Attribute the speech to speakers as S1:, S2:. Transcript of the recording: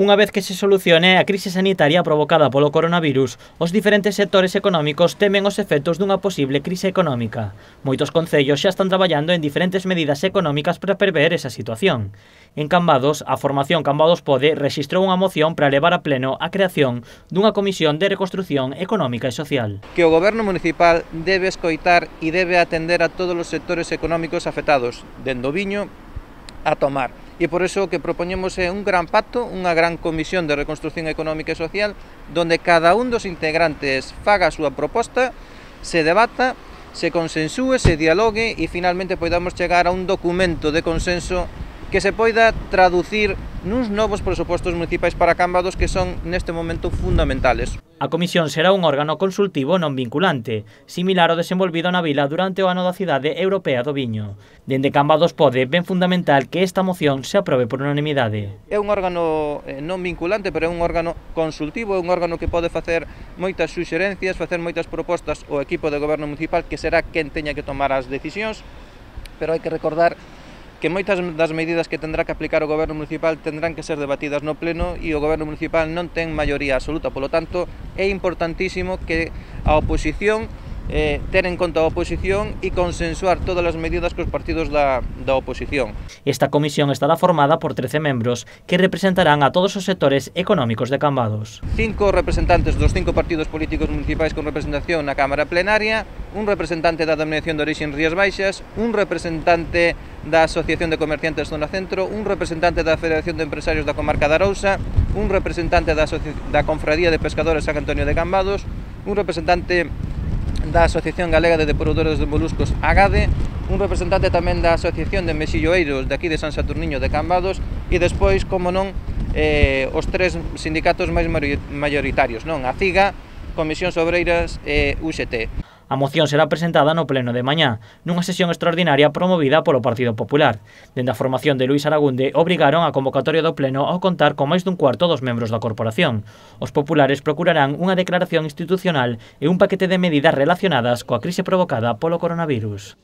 S1: Unha vez que se solucione a crise sanitaria provocada polo coronavirus, os diferentes sectores económicos temen os efectos dunha posible crise económica. Moitos concellos xa están traballando en diferentes medidas económicas para prever esa situación. En Cambados, a formación Cambados Pode rexistrou unha moción para levar a pleno a creación dunha comisión de reconstrucción económica e social.
S2: Que o goberno municipal debe escoitar e debe atender a todos os sectores económicos afectados, dende o viño a tomar. E por iso o que propoñemos é un gran pacto, unha gran comisión de reconstrucción económica e social, donde cada un dos integrantes faga a súa proposta, se debata, se consensúe, se dialogue e finalmente podamos chegar a un documento de consenso que se poida traducir nuns novos presupostos municipais para Cambados que son neste momento fundamentales.
S1: A comisión será un órgano consultivo non vinculante, similar ao desenvolvido na vila durante o ano da Cidade Europea do Viño. Dende Cambados Pode ven fundamental que esta moción se aprobe por unanimidade.
S2: É un órgano non vinculante, pero é un órgano consultivo, é un órgano que pode facer moitas suxerencias, facer moitas propostas ao equipo de goberno municipal, que será quen teña que tomar as decisións, pero hai que recordar que moitas das medidas que tendrá que aplicar o goberno municipal tendrán que ser debatidas no pleno e o goberno municipal non ten maioría absoluta, polo tanto é importantísimo que a oposición ter en conta a oposición e consensuar todas as medidas cos partidos da oposición.
S1: Esta comisión estará formada por 13 membros que representarán a todos os sectores económicos de Cambados.
S2: 5 representantes dos 5 partidos políticos municipais con representación na Cámara Plenaria, un representante da Denominación de Orixe en Rías Baixas, un representante da Asociación de Comerciantes Zona Centro, un representante da Federación de Empresarios da Comarca da Arousa, un representante da Confradía de Pescadores San Antonio de Cambados, un representante da Asociación Galega de Depuradores de Moluscos AGADE, un representante tamén da Asociación de Mexilloeiros de aquí de San Saturniño de Cambados e despois, como non, os 3 sindicatos máis maioritarios, non? A CIGA, Comisións Obreiras e UGT.
S1: A moción será presentada no pleno de mañá, nunha sesión extraordinaria promovida polo Partido Popular. Dende a formación de Luís Aragunde obrigaron a convocatoria do pleno ao contar con máis dun cuarto dos membros da corporación. Os populares procurarán unha declaración institucional e un paquete de medidas relacionadas coa crise provocada polo coronavirus.